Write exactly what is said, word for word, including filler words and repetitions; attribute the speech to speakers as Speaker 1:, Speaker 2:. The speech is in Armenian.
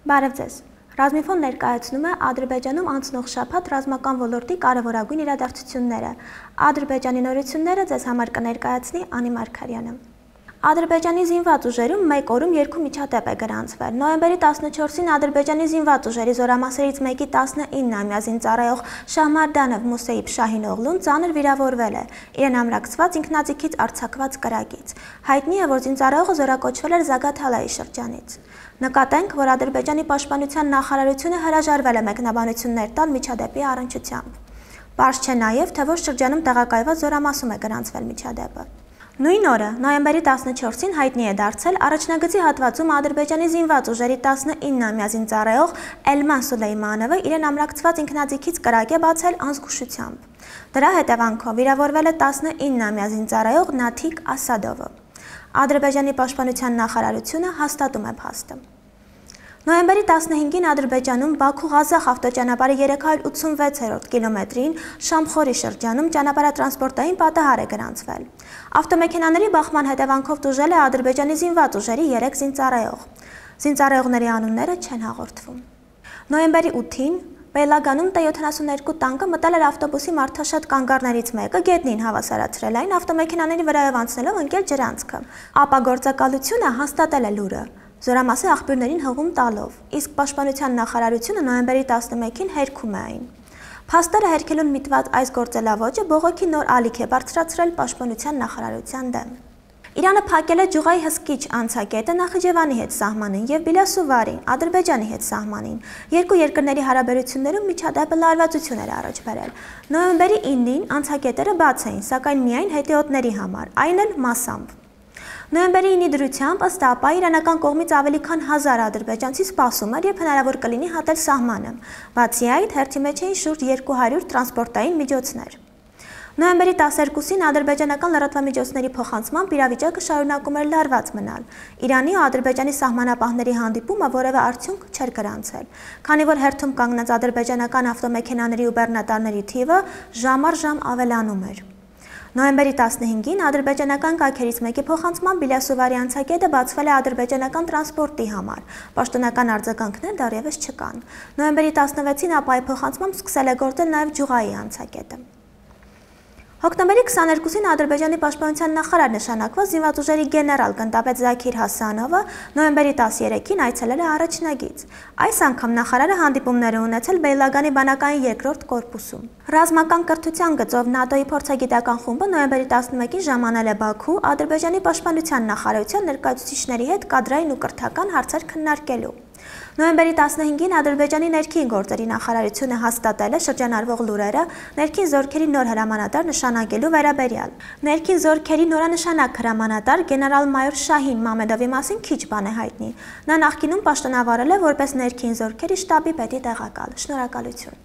Speaker 1: Բարև ձեզ։ Ռազմիֆոն ներկայացնում է Ադրբեջանում անցնող շաբաթ ռազմական ոլորտի կարևորագույն իրադարձությունները։ Ադրբեջանի նորությունները ձեզ համար կներկայացնի Անի Մարգարյանը։ Ադրբեջանի զինված ուժերում մեկ օրում երկու միջադեպ է գրանցվել։ Նոյեմբերի տասնչորսին Ադրբեջանի զինված ուժերի զորամասերից մեկի տասնինը-ամյա զինծառայող Շահմարդանով Մուսեիբ Շահինօղլուն ծանր վիրավորվել է իրեն ամրացված ինքնաձիգից արձակված կրակից։ Հայտնի է, որ զինծառայողը զորակոչվել էր Զագաթալայի շրջանից։ Նկատենք, որ Ադրբեջանի պաշտպանության նախարարությունը հրաժարվել է մեկնաբանություններ տալ միջադեպի առնչությամբ։ Պարզ չէ նաև, թե որ շրջանում տեղակայված զորամասում է գրանցվել միջադեպը։ Նույն օրը, նոյեմբերի տասնչորսին հայտնի է դարձել առաջնագծի հատվածում Ադրբեջանի զինված ուժերի տասնինը-ամյա զինծառայող Էլման Սուլեյմանովը իրեն ամրացված ինքնաձիգից կրակ է բացել անզգուշությամբ։ Դրա հետևանքով վիրավորվել է տասնինը-ամյա զինծառայող Նաթիկ Ասադովը։ Ադրբեջանի պաշտպանության նախարարությունը հաստատում է փաստը։ Նոյեմբերի տասնհինգին Ադրբեջանում Բաքու-Ղազախ ավտոճանապարհի երեք հարյուր ութսունվեցերորդ կիլոմետրին Շամխորի շրջանում ճանապարհատրանսպորտային պատահար է գրանցվել։ Ավտոմեքենաների բախման հետևանքով տուժել է Ադրբեջանի զինված ուժերի երեք զինծառայող։ Զինծառայողների անունները չեն հաղորդվում։ Նոյեմբերի ութին Բելագանում Տե յոթանասուններկու տանկը մտել էր ավտոբուսի մարդաշատ կանգառներից մեկը, գետնին հավասարացրել այն, ավտոմեքենաների վրայով անցնելով ընկել ջրանցքը։ Ապա գործակալությունը հաստատել է լուրը, զորամասի աղբյուրներին հղում տալով, իսկ պաշտպանության նախարարությունը նոյեմբերի տասնմեկին հերքում է այն։ Փաստերը հերքելուն միտված այս գործելավոճը բողոքի նոր ալիք է բարձրացրել պաշտպանության նախարարության դեմ։ Իրանը փակել է Ջուղայի հսկիչ անցակետը Նախիջևանի հետ սահմանին եւ Բիլասուվարին, Ադրբեջանի հետ սահմանին։ Երկու երկրների հարաբերություններում միջադեպը լարվածություն էր առաջ բերել։ Նոյեմբերի իննին անցակետերը բաց էին, սակայն միայն հետիոտների համար, այն էլ մասամբ։ Նոյեմբերի ինի դրությամբ ըստ ապա իրանական կողմից ավելի քան հազար ադրբեջանցի սպասում էր, երբ հնարավոր կլինի հատել սահմանը։ Բացի այդ, հերթի մեջ էին շուրջ երկու հարյուր տրանսպորտային միջոցներ։ Նոյեմբերի տասներկուսին ադրբեջանական լրատվամիջոցների փոխանցմամբ իրավիճակը շարունակում էր լարված մնալ։ Իրանի ու Ադրբեջանի սահմանապահների հանդիպումը որևէ արդյունք չէր գրանցել, քանի որ հերթում կանգնած ադրբեջանական ավտոմեքենաների ու բեռնատարների թիվը ժամ առ ժամ ավելանում էր։ Նոյեմբերի տասնհինգին ադրբեջանական կայքերից մեկի փոխանցմամբ Բիլասուվարի անցակետը բացվել է ադրբեջանական տրանսպորտի համար։ Պաշտոնական արձագանքներ դեռևս չկան։ Նոյեմբերի տասնվեցին ապա այդ փոխանցմամբ սկսել է գործել նաև Ջուղայի անցակետը։ Հոկտեմբերի քսաներկուսին Ադրբեջանի պաշտպանության նախարար նշանակված զինված ուժերի գեներալ գնդապետ Զաքիր Հասանովը նոյեմբերի տասներեքին այցելել է առաջնագիծ։ Այս անգամ նախարարը հանդիպումներ է ունեցել Բեյլագանի բանակային երկրորդ կորպուսում։ Ռազմական կրթության գծով ՆԱՏՕ-ի փորձագիտական խումբը նոյեմբերի տասնմեկին ժամանել է Բաքու Ադրբեջանի պաշտպանության նախարարության ներկայացուցիչների հետ կադրային ու կրթական հարցեր քննարկելու։ Նոյեմբերի տասնհինգին Ադրբեջանի ներքին գործերի նախարարությունը հաստատել է շրջանառվող լուրերը ներքին զորքերի նոր հրամանատար նշանակելու վերաբերյալ։ Ներքին զորքերի նորանշանակ հրամանատար գեներալ-մայոր Շահին Մամեդովի մասին քիչ բան է հայտնի։ Նա նախկինում պաշտոնավարել է որպես ներքին զորքերի շտաբի պետի տեղակալ։ Շնորհակալություն։